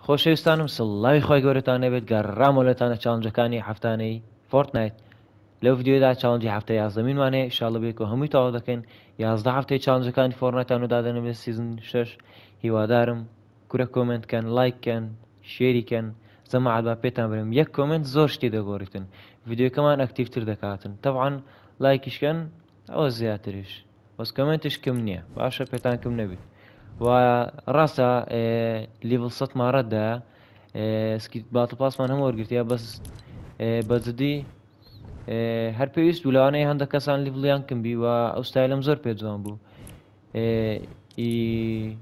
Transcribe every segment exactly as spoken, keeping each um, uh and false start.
خۆشەویستانم سڵاوی خوای گەورەتان نەبێت، گەڕامەوە لەتانە challenge ەکانی هەفتانەی Fortnite. لەو ڤیدیۆدا challenge ی هەفتە یازدەمینمان هەیە، ئیشاڵڵە بێکەوە هەمووی تەواو دەکەین. یازدە هەفتەی challenge ەکانی Fortnite ان و دادەنم لە season شەش. هیوادارم کورە comment کەن، لایک کەن، share ی کەن. جەماعەت با پێتان برم، یەک comment زۆر شتی دەگۆڕیتن، ڤیدیۆکەمان active تر دەکاتن. تەبعەن لایکیش کەن ئەوە زیاتریش، بەس comment یش کم نییە، باشە پێتان کم نەبیت. و ڕاستە level سەدمان ڕەتدا، سکیت battle pass مان هەموو وەرگرتیە، بەس بە جدی هەر پێویست بوو. لەوانەیە هەندێک کەسان level یان کم بی و ئەو ستایلم زۆر پێ جوان بوو. ئی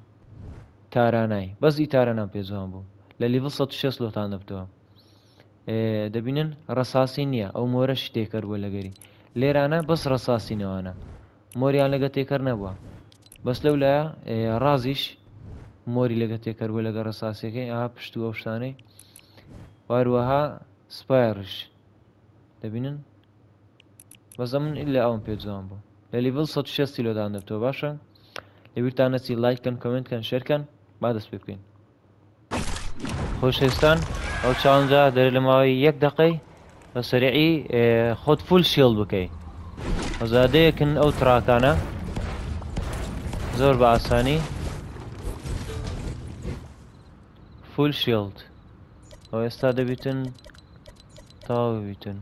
تارانای بەس ئی تارانام پێ جوان بوو. لە level سەد و شەست لۆتان دەبتەوە. دەبینن ڕەساسی نییە، ئەو مۆرەش تێکەر بووە لەگەری لێرانە، بەس ڕەساسی نەوانە، مۆریان لەگە تێکەر نەبووە. بەس لەو لایە ڕازیش مۆری لەگە تێکەر بووە لەگە ڕەساسیەکەی، ئاها پشت و ئەو شتانەی. واروەها سپایڕش دەبینن، بەس ئەمن ئیلا ئەوم پێ جوان بوو. لە level سەد و شەستی لۆدان دەبتەوە. باشە لەبیرتان نەچی لایک کەن، comment کەن، share کەن. با دەست پێ بکەین. خۆشەویستان ئەو challenge ە دەرێ لە ماوەی یەک دقەی بە سەریعی خۆت full shield بکەی. ئەزادەیەکن ئەو truck انە زۆر بە ئاسانی full shield. ئەو ئێستا دەبیتن تەواو ببیتن.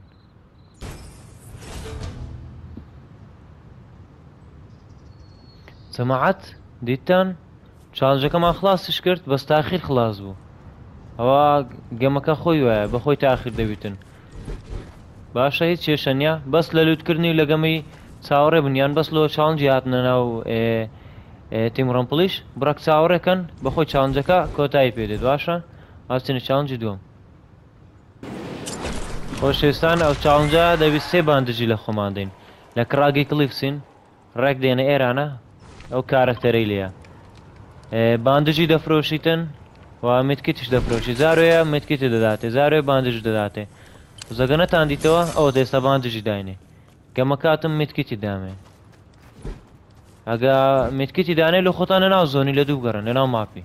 جەماعەت دیتان challenge ەکەمان خلاصیش کرد، بەس تاخیر خلاص بوو. ئەوە game ەکە خۆی وایە، بەخۆی تاخیر دەبیتن. باشە هیچ کێشە نییە، بەس لە loot کردنی و لە game ی چاوەڕێ بن، یان بەس لۆ challenge ی هاتنە ناو Team Rumble یش بڕەک چاوەڕێکەن، بەخۆی challenge ەکە کۆتایی پێدێت. باشە ئاچینە challenge ی دووەم. خۆشەویستان ئەو challenge ە دەبیت سێ bandage ی لە خۆمان دەین. لە Craggy Cliffs ین، ڕێک دێنە ئێرانە ئەو کارەکتەرەی لێیە. bandage ی دەفرۆشیتن و medkit یش دەفرۆشی. جارۆیە medkit ی دەداتێ، جارۆیە bandage دەداتێ. زەگە نەتان دیتەوە ئەوە ئێستا bandage ی داینێ. game ەکاتم medkit ی دامێ. ئەگە medkit ی دانێ لە خۆتان لە ناو zone ی لە دوو بگەڕن لە ناو map ی.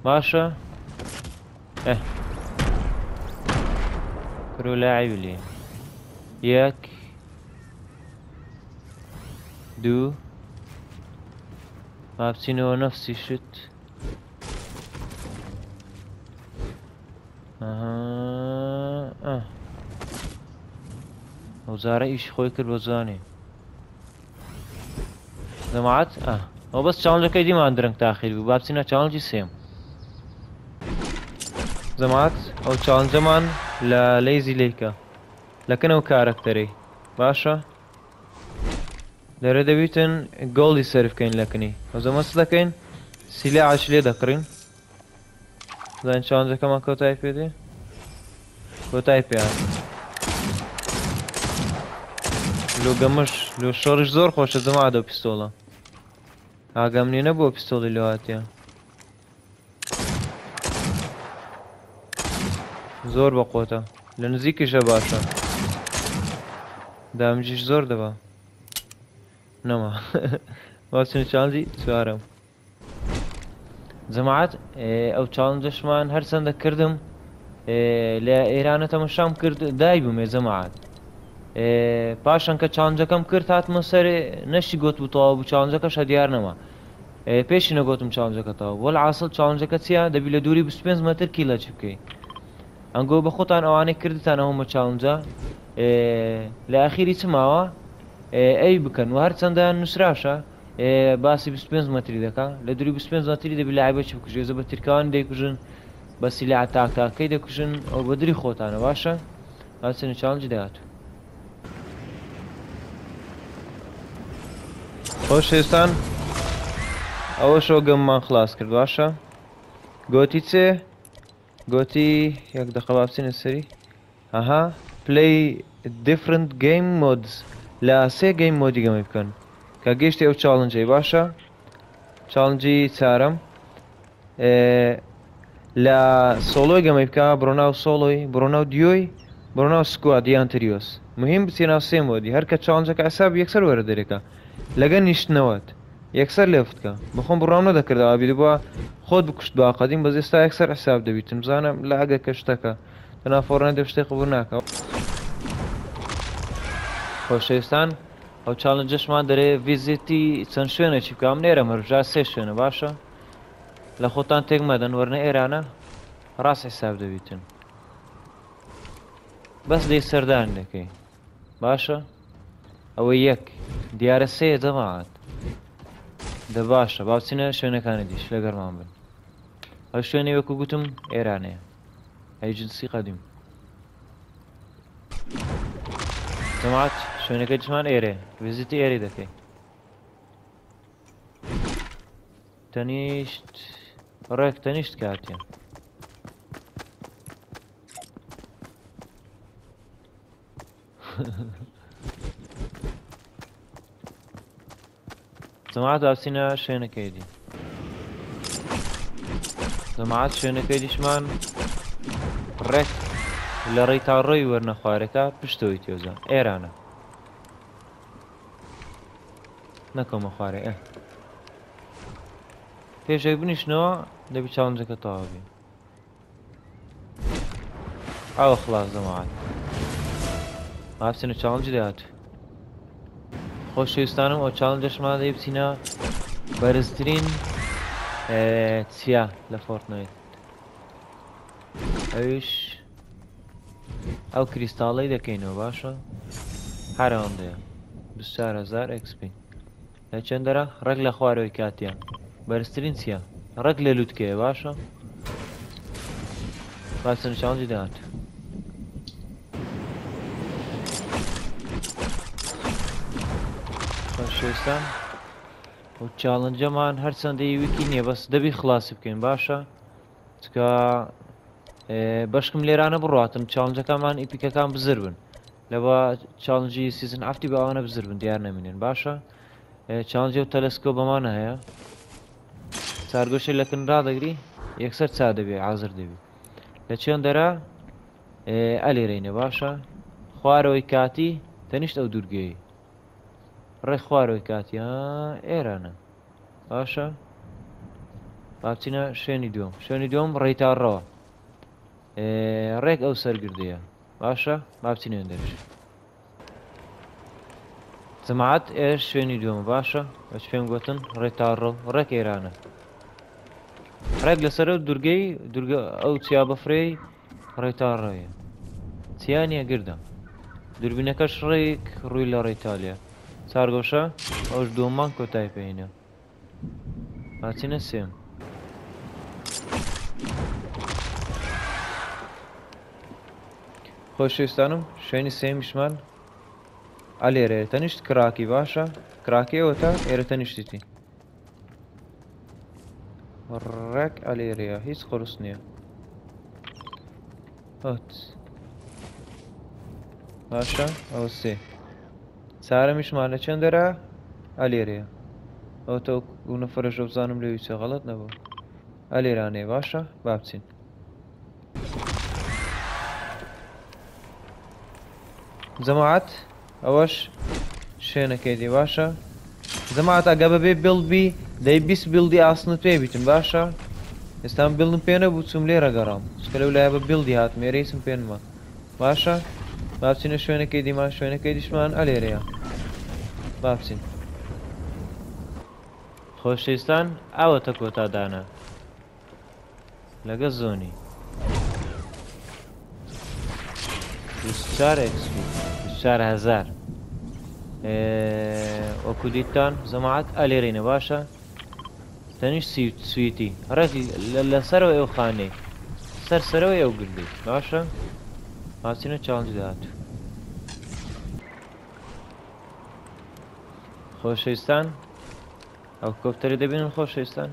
باشە ئێ کرۆ لاعیب لێ. یەک دوو با بچینەوە نەفسی شت. ئەها ئەو جارە ئیشی خۆی کرد بە جوانی. جەماعەت ئە ئەو بەس challenge ەکەی دیمان درەنگ تاخیر بوو. با بچینە challenge ی سێم. جەماعەت ئەو challenge ەمان لە Lazy Lake ە لەکەن ئەو کارەکتەرەی. باشە لێرە دەبیتن gold ی سەرف بکەین لەکنی. ئەو زەمە چ دەکەین؟ سیلاعش لێ دەکڕین. زانین challenge ەکەمان کۆتایی پێدێ؟ کۆتایی پێ هات. لۆ game ش لۆ شەڕیش زۆر خۆشە جەماعەت ئەو pistol ە. ئاگام نییە نەبووە pistol ی لۆ هاتیە. زۆر بەقۆتە، لە نزیکیشە باشە، damage یش زۆر دەبا. نەما باچنە challenge ی چوارەم. جەماعەت ئەو challenge ەشمان هەرچەندە کردم لە ئێرانە تەمەشام کرد دای بوومێ جەماعەت. پاشان کە challenge ەکەم کرد هاتمە سەر نەشی گوت بوو تەواو بوو، challenge ەکەش دیار نەما. پێشی نەگوتم challenge ەکە تەواو. وەلعاسڵ challenge ەکە چییە؟ دەبی لە دووری بیست و پێنج مەتر kill ە چی بکەی. ئەنگۆ بە خۆتان ئەوانەی کردتان ئەومە challenge ە لە ئەخیری چ ماوە ئەی بکەن. و هەرچەندە نووسراشە باسی بیست و پێنج مەتری دەکا، لە دووری بیست و پێنج مەتری دەبی لاعیبە چی بکوژێ. زە بە ترکاوانی دەیکوژن، بە سیلاع تاکتاکەی دەکوژن، ئەو بە دری خۆتانە. باشە ئاچنە challenge ی داهاتوو. خۆشەویستان ئەوە شەو game مان خلاص کرد. باشە گۆتی چێ؟ گۆتی یەک دقە با بچینە سەری. ئەها play different game modes، لە سێ game mode ی game ی بکەن کە گەیشتی ئەو challenge ەی. باشە challenge ی چارەم لە solo ی game ی بکە، بڕۆناو solo ی، بڕۆناو duo ی، بڕۆناو squad یان trios. مهم بچێ ناو سێ mode ی، هەر کە challenge ەکە حساب یەکسەر وەرە دەرێکە لەگە نیشتنەوەت. یەکسەر left کە بەخۆم بڕام نەدەکرد ئابی بووە خۆت بکوشت با قەدیم بەس ئێستا یەکسەر حساب دەبیتم بزانم لە ئەگە کە شتەکە تەنها فۆرنایت دەب شتێک قبول ناکە. خۆشەویستان ئەو challenge ەشمان دەرێ visit ی چەند شوێنێکی بکەم نێرە مەرجا سێ شوێنە باشە لە خۆتان تێک مەدەن وەرنە ئێرانە ڕاست حساب دەبیتن بەس دەی سەردان دەکەی باشە ئەوە یەک دیارە سێ جەماعەت دە باشە با بچینە شوێنەکانی دیش لەگەرمان بن ئەو شوێنەی وەکو گوتم ئێرانەیە ئەیجنسی قەدیم جەماعەت شوێنەکەی دیشمان ئێرەیە visit ی ئێرەی دەکەی تەنیشت ڕێک تەنیشت کاتیان جەماعەت با بچینە شوێنەکەی دی جەماعەت شوێنەکەی دیشمان ڕێک لە ڕێی تا ڕێی وەرنە خوارەکە پشتەوەی تێوزە ئێرانە نەکەومە خوارێ ئێ پێشێک بنیشنەوە دەبی challenge ەکە تەواو بی ئەوە خلاص جەماعەت با بچینە challenge ی داهاتوو. خۆشەویستانم ئەو challenge ەشمان دەی بچینە بەرزترین چیا لە فۆرتنایت ئەویش ئەو کریستاڵەی دەکەینەوە باشە هەر ئەوەندەیە بیست و چوار هەزار XP لە چەندەرە ڕێک لە خوارەوەی کاتیان بەرزترین چییە ڕێک لە لوتکەیە باشە با بچینە challenge ی داهاتوو. خۆشەویستان و challenge ەمان هەرچەندەی ویکی نییە بەس دەبی خلاصی بکەین باشە چکە بەشکم لێرانە بڕاتن challenge ەکانمان epic ەکان بزر بن لەوە challenge ی season هەفتی بە ئەوانە بزر بن دیار نەمینن باشە challenge ی و تەلەسکۆ بەمانە هەیە چارگۆشی لەکن ڕادەگری یەکسەر چا دەبێ حاضر دەبی لە چێندەرە ئەلێرەینە باشە خوارەوەی کاتی تەنیشت ئەو دوورگەیە ڕێ خوارەوەی کاتی ئێرانە باشە با بچینە شوێنی دووەم شوێنی دووەم ڕێتاڕەوە ڕێک ئەو سەرگردەیە باشە با بچینە دەرش جەماعەت ئێر شوێنی دووەمە باشە بەچ پێم گوتن ڕێتاڕە ڕێک ئێرانە ڕێک لەسەر ئەو دوورگەی دوورگە ئەو چیا بەفرەی ڕێتاڕەیە چیا نییە گردە دووربینەکەش ڕێک ڕووی لە ڕێتالیا چارگۆشە ئەوش دووەممان کۆتایی پێینە با بچینە سێم خۆشەویستانم شوێنی سێمیشمان ئەلێرەیە تەنیشت کراکی باشە کراکی ئەوە تا ئێرە تەنیشتیتی ڕێک ئەلێرەیە هیچ قورس نییە هات باشە ئەوە سێ چارەمیشمان لە چێندەرە ئەلێرەیە ئەو تە ئەو نەفەرەشە بزانم لەوی چێ غەڵەت نەبوو ئەلێرانەیە باشە با بچین جەماعەت ئەوەش شوێنەکەی دی باشە جەماعەت ئەگە بەبێ build بی دەی بیست build ی ئاسنت پێ بیتم باشە ئێستا build م پێ نەبوو چوم لێرە گەڕام چونکە لەو لایە بە build ی هاتم ئێرە هیچم پێ نەما باشە با بچینە شوێنەکەی دیمان شوێنەکەی دیشمان ئەلێرەیە با بچین خۆشەویستان ئاوەتە کۆتا دانا لەگە zone ی بیست و چوار XP بیست و چوار هەزار وەکو دیتتان جەماعەت ئەلێرینە باشە تەنیشت سویتی ڕێک لەسەرەوە ئەو خانەی سەر سەرەوەی ئەو گردەی باشە با بچینە challenge داهاتوو. خۆشەویستان ئەو کۆپتەرە دەبینن خۆشەویستان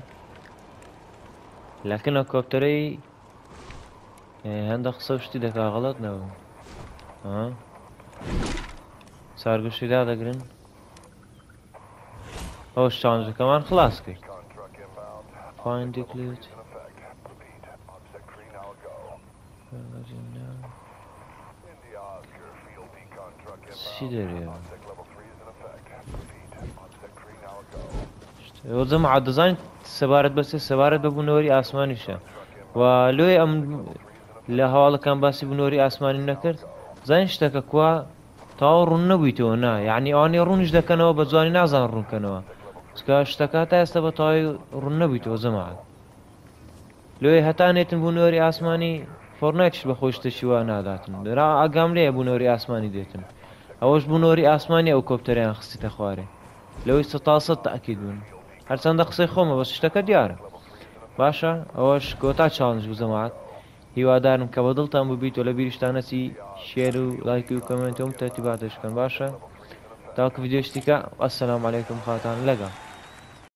لەکن ئەو کۆپتەرەی هەندە قسە و شتی دەکا غەڵەت نەبوو چارگوشی دادەگرن ئەوش challenge ەکەمان خلاص کرد Find the glitch. چی دەرێ؟ جەماعەت دەزانیت سەبارەت بە چێ؟ سەبارەت بە بوونەوەری ئاسمانیشە و لۆیە ئەم لە هەواڵەکان باسی بوونەوەری ئاسمانی نەکرد. زانین شتەکە کوا تەواو ڕوون نەبوویتەوە نا، یعنی ئەوانەی ڕوونیش دەکەنەوە بە جوانی نازان ڕوونکەنەوە، چکە شتەکە تا ئێستا بە تەواوی ڕوون نەبوویتەوە جەماعەت. لۆیە هەتا نێتن بوونەوەری ئاسمانی فۆرنایتیش بە خۆی شتێکی وا ناداتن، را ئاگام لێیە بوونەوەری ئاسمانی دێتن، ئەوەش بوونەوەری ئاسمانی ئەو کۆپتەریان خستیتە خوارێ لەوەی سەتا سەد تەئکید بوون. هەرچەندە قسەی خۆمە بەس شتەکە دیارە. باشە ئەوەش کۆتا challenge بوو جەماعەت، هیوادارم کە بەدڵتان بووبیت و لە بیریشتان نەچی share و لایک و comment و تەرتیباتش بکەن. باشە تاکو ڤیدیۆ شتیکە، السلام علیکم، خواتان لەگەڵ.